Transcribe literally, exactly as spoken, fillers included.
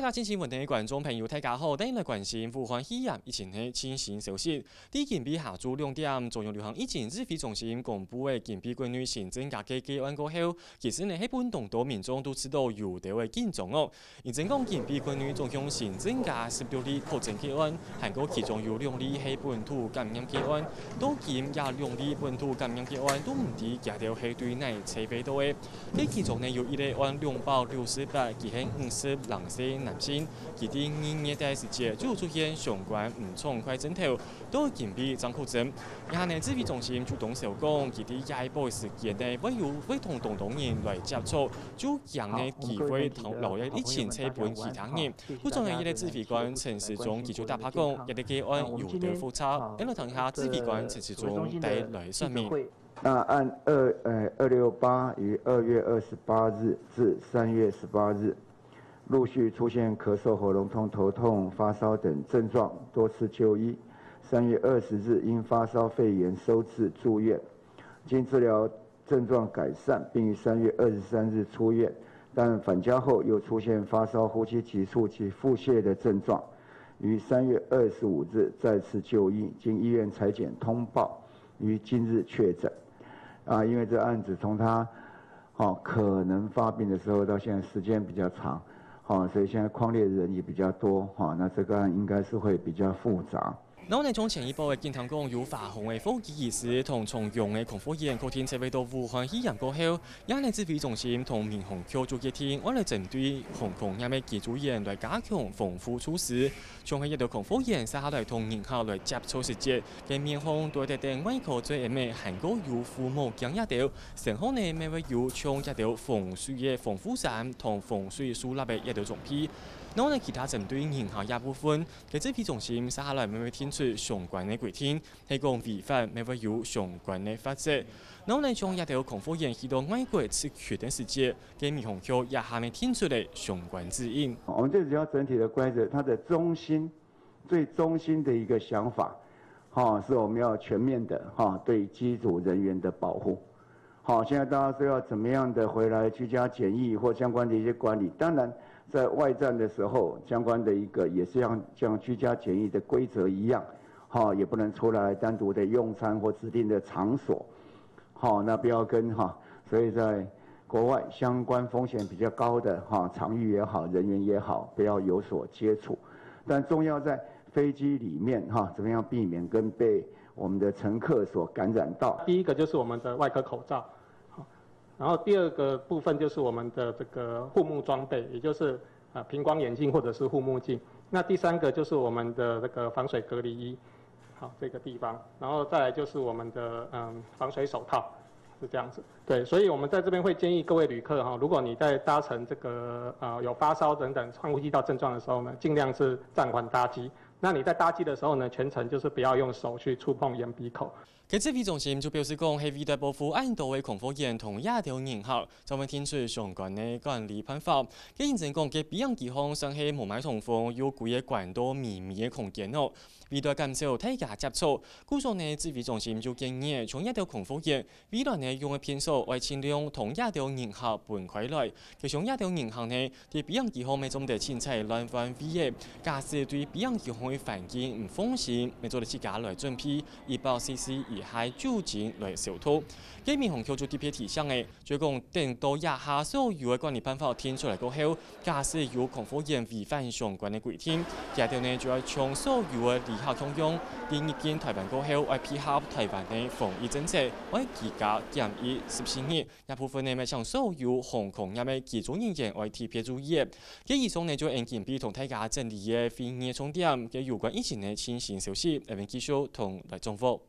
啊，新聞台个觀眾朋友，大家好，歡迎來關心武漢肺炎疫情个最新消息。在今晡下晝兩點，中央流行疫情指揮中心公布个今晡國內新增加个個案過後，其實呢係分當多民眾都感覺到有兜仔緊張哦。因為講今晡國內總共新增加十六例確診個案，還過其中有兩例係本土感染個案，到今這兩例本土感染個案都毋知佢兜係對哪位揣著个。 該其中呢有一例案兩百六十八，佢係五十零歲男性，佢在二月底時節就出現相關毋暢快症頭，到今晡正確診。這下呢指揮中心就當笑講，佢在下晡時間呢會有會同當多人來接觸，就驚呢佢會同漏一息傳分其他人。 故所呢，這个指揮官陳時中佢就打破講，這个個案有兜複雜，𫣆來聽下指揮官陳時中帶來說明。那案二呃二六八於二月二十八日至三月十八日，陸續出現咳嗽、喉嚨痛、頭痛、發燒等症狀，多次就醫。三月二十日因發燒肺炎收治住院，經治療症狀改善，並於三月二十三日出院，但返家後又出現發燒、呼吸急促及腹泻的症狀，於三月二十五日再次就醫，經醫院採檢通報，於今日確診。啊，因為這案子從他哦可能發病的時候到現在時間比較長，哦，所以現在匡列的人也比較多，哦，那這個案應該是會比較複雜。 然後呢，從前一波个警聽講有華航个貨機機師同長榮个空服員確定接觸到武漢肺炎過後，這呢指揮中心同民航局就決定，愛來針對航空業个機組員來加強防護措施。像係這兜空服員續下來同人客來接觸時節，个面項都愛戴等外科嘴掩仔，還過有護目鏡這兜，身項呢乜會有像這兜防水个防護衫同防水手套个這兜裝備。然後呢，其他針對人客這部分， 該指揮中心續下來乜會定出相關个規定，係講違反乜會有相關个罰則。然後呢，像這兜空服員去到外國出勤个時節，該民航局這下乜定出了相關指引。我們最主要整體的規則，它的中心、最中心的一個想法，哈，是我們要全面的哈對機組人員的保護。 好，現在大家是要怎麼樣的回來居家檢疫或相關的一些管理？當然，在外站的時候，相關的一個也是要像居家檢疫的規則一樣，好，也不能出來單獨的用餐或指定的場所，好，那不要跟哈，所以在國外相關風險比較高的哈場域也好，人員也好，不要有所接觸。但重要在飛機裡面哈，怎麼樣避免跟被我們的乘客所感染到？第一個就是我們的外科口罩，好，然後第二個部分就是我們的這個護目裝備，也就是呃平光眼鏡或者是護目鏡。那第三個就是我們的這個防水隔離衣，好，這個地方，然後再來就是我們的嗯防水手套，是這樣子。對，所以我們在這邊會建議各位旅客哈，如果你在搭乘這個呃有發燒等等上呼吸道症狀的時候呢，盡量是暫緩搭機。那你在搭機的時候呢，全程就是不要用手去觸碰眼鼻口。 該指揮中心就表示講，係為著保護恁多个空服員同這兜人客，正會定出相關个管理辦法。該因此講，該飛行機項算係無麼通風，有幾个關到微微个空間哦，為著減少大家接觸。故所呢，指揮中心就建議，像這兜空服員，未來呢用个便所愛盡量同這兜人客分開來。該像這兜人客呢， 在飛行機項乜做得凊彩亂換位仔，假使對飛行機項个環境毋放心，乜做得自家來準備一百C C以下酒精來消毒。該民航局就特別提醒个，就係講等到這下所有个管理辦法定出來過後，假使有空服員違反相關个規定，佢兜呢就愛像所有个旅客共樣，在入境臺灣過後，愛配合臺灣个防疫政策，愛居家檢疫十四日。 這部分呢，乜請所有航空業个機組人員愛特別注意。該以上呢，就係今晡日同大家整理个會議重點，該有關疫情个最新消息，𫣆會繼續同來掌握。